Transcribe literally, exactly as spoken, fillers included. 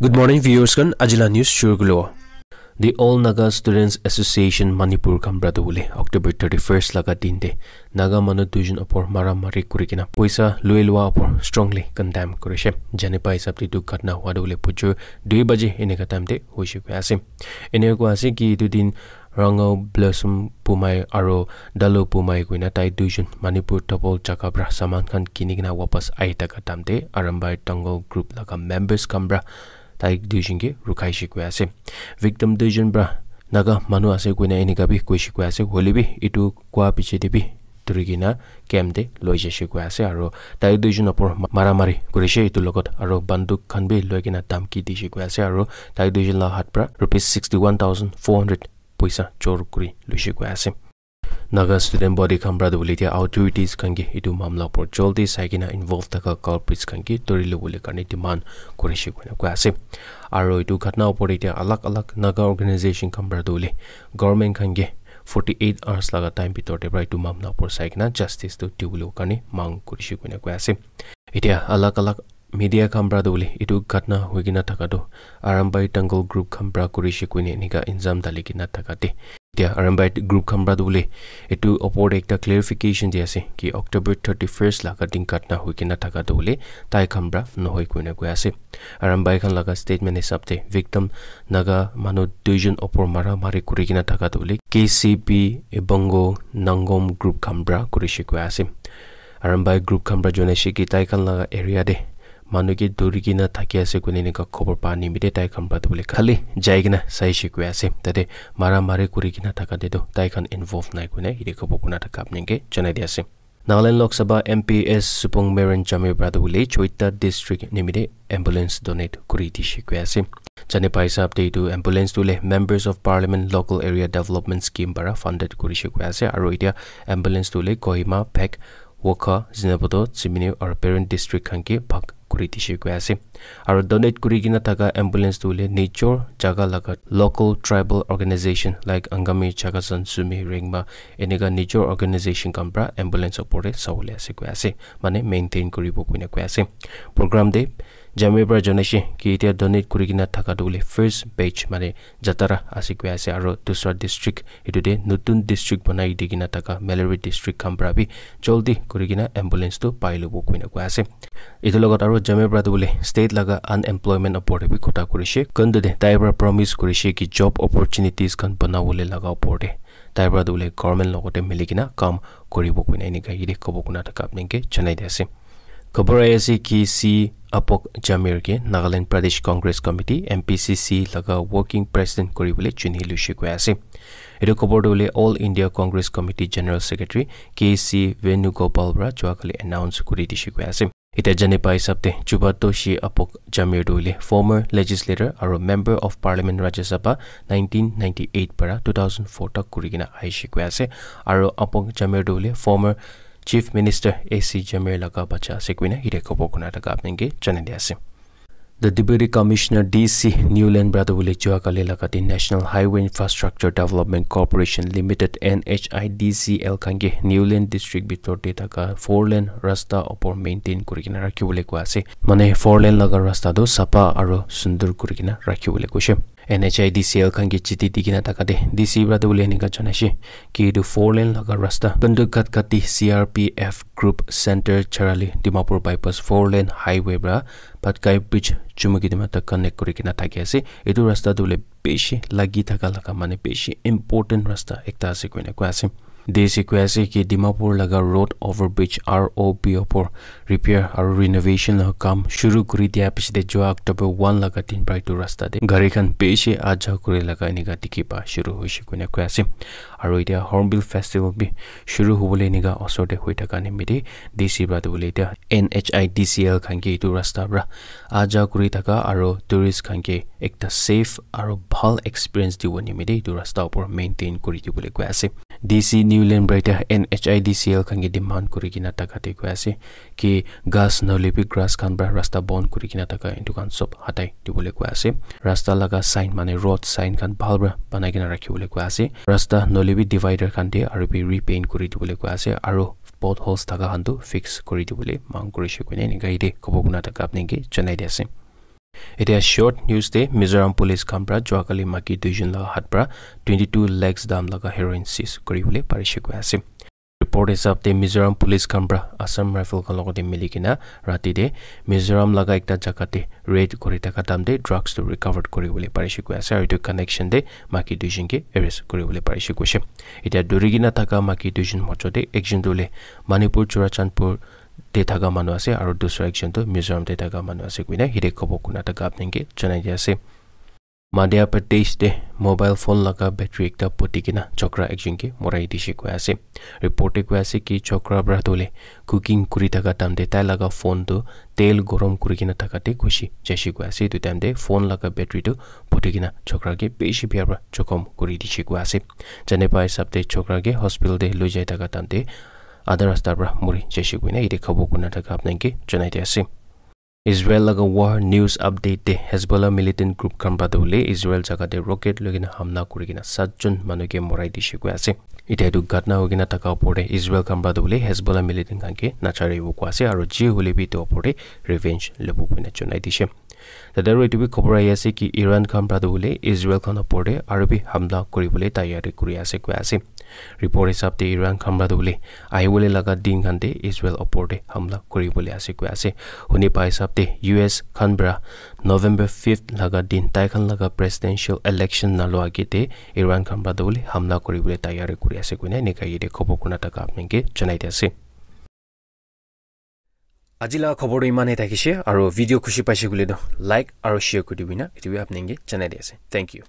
Good morning, viewers khan. Ajila news shuru kulo. The All Naga Students Association Manipur khan pra tu bole October thirty-first laga din te Naga manu duijon opor mara mari kuri kena poisa lui lua opor strongly condemn kurishe. Jani pa hisab te etu ghatna hua tu bole bujur dui baje eneka time te hoishe koi ase. Eneka koi ase ki etu din Rangau Blossom Pumai aro Dalo Pumai koina tai duijon Manipur Double jaga pra saman khan kini kena wapas ahi thaka time te Arambai Tangal group laga members khan pra tai duijon ke rukhai she koi ase. Victim duijon pra Naga manu ase koina enika bi koishe koi ase. Hoile bi etu koa piche te bi duri kena camp te loi jaishe koi ase aro tai duijon opor ma-, mara mari kurishe etu logot aro banduk khan bi loi kena dhamki dishe koi ase aro tai duijon la hat pra rupees sixty one thousand four hundred poisa chor kuri luishe koi ase. Naga student body khan pra tu bole etia authorities khan ke etu mamla opor jaldi sai kena involve thaka culprits khan ke duri lobole karne demand kurishe koina koi ase. Aro etu ghatna opor te etia alag alag Naga organization khan pra tu bole government khan ke forty eight hours laga time bitor te pra etu mamla opor sai kena justice tu dibole karne mang kurishe koina koi ase. Etia alag alag media khan pra tu bole etu ghatna hoi kena thaka tu Arambai Tangal group khan pra kurishe koina enika injam dali kena thaka te etia Arambai group khan pra tu bole etu opor te ekta clarification di ase ki October thirty-first laga din ghatna hoi kena thaka tu bole tai khan pra nohoi koina koi ase. Arambai khan laga statement hisab te victim Naga manu duijon opor mara mari kuri kena thaka tu bole K C P Ebongo Nangom group khan pra kurishe koi ase. Arambai group khan pra jonaishe ki tai khan laga area te manu ke duri kena thaki ase koina enika khobor pa nimite tai khan pra tu bole khali jai kena saishe koi ase. Tate mara mari kuri kena thaka te tu tai khan involve nai koina yate khobor kuna thaka apni ke janai di ase. Nagaland Lok Sabha M P S Supong Meren Jamir pra tu bole Choita district nimite ambulance donate kuri dishe koi ase. Jane pai hisab te etu ambulance tu le Members of Parliament Local Area Development Scheme para funded kurishe koi ase. Aro etia ambulance tu le Kohima, Phek, Wokha, Zunheboto, Tsiminu aro Peren district khan ke bhag kuri dishe koi ase. Aro donate kuri kena thaka ambulance tu le nijor jaga laga local tribal organization like Angami, Chakhesang, Sumi, Rengma enika nijor organization khan pra ambulance opor te sabole ase koi ase. Mane maintain kuribo koina koi ase. Program te Jamir pra janaishe ki etia donate kuri kena thaka tu le first batch mane Jatara ase koi ase aro dusra district etu te notun district banai di kena thaka Melari district khan pra bi jaldi kuri kena ambulance tu pai lobo koina koi ase. Etu logot aro Jamir pra tu bole state laga unemployment opor te bi kotha kurishe. Kuntu te tai pra promise kurishe ki job opportunities khan banabole laga opor te tai pra tu bole government logot te mili kena kam kuribo koina enika yate kobo kuna thaka apni ke janai di ase. Khobor ahi ase ki C Apok Jamir ke Nagaland Pradesh Congress Committee, N P C C, laga working president kuri bole chuni luishe koi ase. Etu khobor tu bole All India Congress Committee General Secretary K C Venugopal pra jua kali announce kuri dishe koi ase. Etia jane pai hisab te Jubatoshi Apok Jamir tu bole former legislator aro member of parliament Rajya Sabha nineteen ninety eight para two thousand four tak kuri kena ahishe koi ase. Aro Apok Jamir tu bole former Chief Minister A C Jamir laga bacha ase koina yate khobor kuna thaka apni ke janai di ase. The Deputy Commissioner D C Niuland pra tu bole jua kali laga din National Highway Infrastructure Development Corporation Limited, N H I D C L, khan ke Niuland District bitor te thaka four lane rasta opor maintain kuri kena rakhi bole koi ase. Mane four lane laga rasta tu sapha aro sundur kuri kena rakhi bole koishe. N H I D C L khan ke chiti di kena thaka te D C pra tu bole enika janaishe ki etu four lane laga rasta Kandukhat Kati C R P F Group Center Charali Dimapur Bypass four lane highway pra Patkai Bridge Chumukedima tak connect kuri kena thaki ase. Etu rasta tu bole bishi lagi thaka laga mane bishi important rasta ekta ase koina koi ase. D C koi ase ki Dimapur laga road overbridge R O B opor repair aro renovation laga kam shuru kuri dia piche te jua October one laga din pra etu rasta te gari khan bishi aja kuri laga enika dikhi pa shuru hoishe koina koi ase. Aro etia Hornbill Festival bi shuru hobole enika osor te hoi thaka nimite D C pra tu bole etia N H I D C L khan ke etu rasta pra aja kuri thaka aro tourist khan ke ekta safe aro bhal experience dibo nimite etu rasta opor maintain kuri dibole koi ase. D C Niuland pra etia N H I D C L khan ke demand kuri kena thaka te koi ase ki ghas nohoile bi grass khan pra rasta bon kuri kena thaka etu khan sob hatai dibole koi ase. Rasta laga sign mane road sign khan bhal pra banai kena rakhi bole koi ase. Rasta nohoile bi divider khan te aro bi repaint kuri dibole koi ase aro potholes thaka khan tu fix kuri dibole mang kurishe koina enika yate kobo kuna thaka apni ke janai di ase. Etia short news te Mizoram police khan pra juakali maki duijon laga hat pra twenty two lakhs dam laga heroin seize kuribole parishe koi ase. Report hisab te Mizoram police khan pra Assam Rifle khan logote mili kena rati te Mizoram laga ekta jaga te raid kuri thaka time te drugs tu recovered kuribole parishe koi ase, aru etu connection te maki duijon ke arrest kuribole parishe koishe. Etia duri kena thaka maki duijon mojo te ekjon tu hoile Manipur Churachandpur te thaka manu ase aru dusra ekjon tu Mizoram te thaka manu ase koina hide khobo kuna thaka apni ke janai di ase. Madhya Pradesh te mobile phone laga battery ekta phuti kena chokra ekjon ke morai dishe koi ase. Report te koi ase ki chokra pra tu hoile cooking kuri thaka time te tai laga phone tu tel gorom kuri kena thaka te gushi jaishe koi ase. Etu time te phone laga battery tu phuti kena chokra ke bishi bia pra jokhom kuri dishe koi ase. Jane pa hisab te chokra ke hospital te loi jai thaka time te adha rasta pra muri jaishe koina yate khabo kuna thaka apni ke janai di ase. Israel laga war news update te Hezbollah militant group khan pra tu hoile Israel jaga te rocket loi kena hamla kuri kena sat jon manu ke morai dishe koi ase. Etia etu ghatna hoi kena thaka opor te Israel khan pra tu hoile Hezbollah militant khan ke nacharibo koi ase aru je hoile bi etu opor te revenge lobo koina janai dishe. Tate aru etu bi khobor ahi ase ki Iran khan pra tu hoile Israel khan opor te aru bi hamla kuribole tayari kuri ase koi ase. Report hisab te Iran khan pra tu hoile ahibole laga din khan te Israel opor te hamla kuribole ase koi ase. Huni pa hisab te U S khan pra November fifth laga din tai khan laga presidential election nalua age te Iran khan pra tu hoile hamla kuribole tayari kuri ase koina enika yate khobor kuna thaka apni ke janai di ase. Aji laga khobor tu iman he thakishe, aru video khushi paishe koile tu like aru share kuri dibi na, etu bi apni ke janai di ase. Thank you.